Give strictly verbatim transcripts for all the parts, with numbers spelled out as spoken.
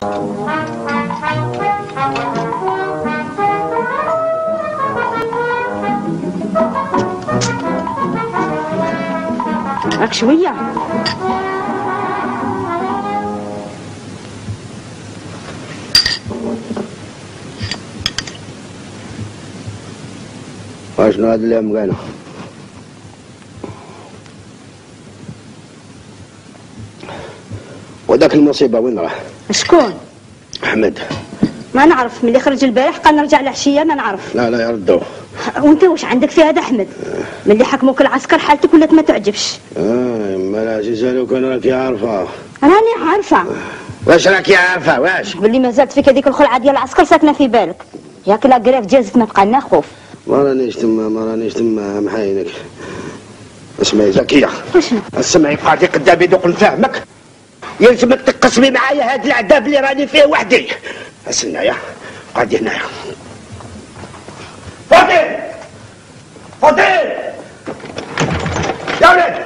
راك شويه واشنو هاد اللي مقالو؟ وداك المصيبه وين راه؟ شكون؟ احمد. ما نعرف، ملي خرج البارح قال نرجع العشيه ما نعرف. لا لا يردوه. وانت واش عندك في هذا احمد؟ ملي حكموك العسكر حالتك ولات ما تعجبش. اه ما لا جزالو كان راكي عارفه. راني عارفه. واش راكي عارفه واش؟ باللي ما زالت فيك هذيك الخلعه ديال العسكر ساكنه في بالك. ياك لا قراف جازت ما بقى لنا خوف. ما رانيش تما ما رانيش تما محاينك. اسمعي زكيه. وشنو؟ اسمعي قاعدي قدامي دوق نفهمك. يلزمك تقسمي معايا هاد العذاب اللي راني فيه وحدي. اسنايا قاعدي هنايا. فاضل فاضل يا ولد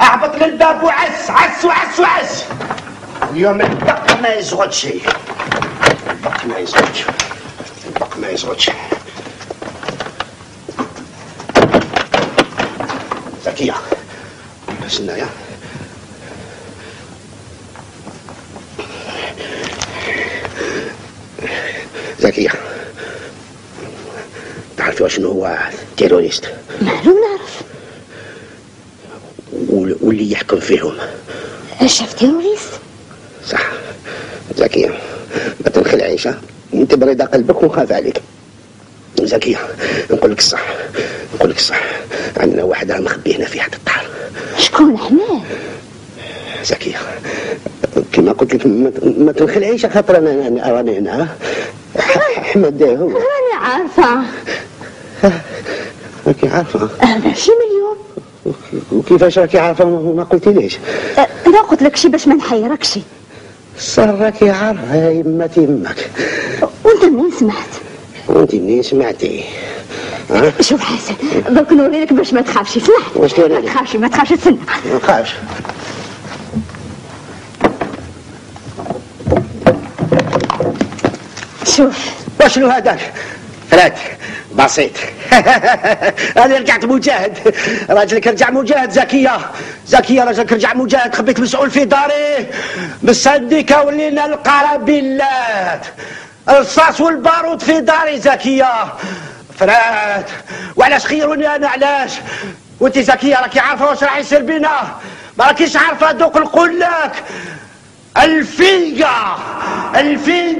اهبط للباب وعس عس وعس وعس. اليوم الدق ما يزغدش، الدق ما يزغدش، الدق ما يزغدش. زكية اسنايا زكية، تعرفي شنو هو تيروريست؟ معلوم نعرف. واللي يحكم فيهم شاف تيروريست؟ صح. زكية ما تنخلعيش، انت بريدة قلبك ونخاف عليك. زكية نقول لك الصح، نقول لك الصح، عندنا واحد مخبي هنا في حد الدار. شكون احمد؟ زكية كما قلت لك ما تنخلعيش خاطر انا راني هنا. احمد هو. راني عارفه. راكي عارفه؟ ماشي مليون. وكيفاش راكي عارفه وما قلتيليش؟ انا قلت لك شي باش ما نحيركش. صار راكي عارفه يا يما تيمك. وانت منين سمعت؟ وانت منين سمعتي؟ ها؟ شوف حسن دوك نوريلك باش ما تخافش. اسمع واش توريني؟ ما تخافش ما تخافش تسنى. ما نخافش. شوف وشنو هذاك؟ فرات بسيط. انا رجعت مجاهد، راجلك رجع مجاهد. زكيه زكيه راجلك رجع مجاهد. خبيت مسؤول في داري مصدقه ولينا القرابيلات الرصاص والبارود في داري. زكيه فرات وعلاش خيروني انا؟ علاش؟ وانت زكيه راكي عارفه واش راح يصير بينا؟ ما راكيش عارفه دوك نقول لك الفيلقه الفيلقه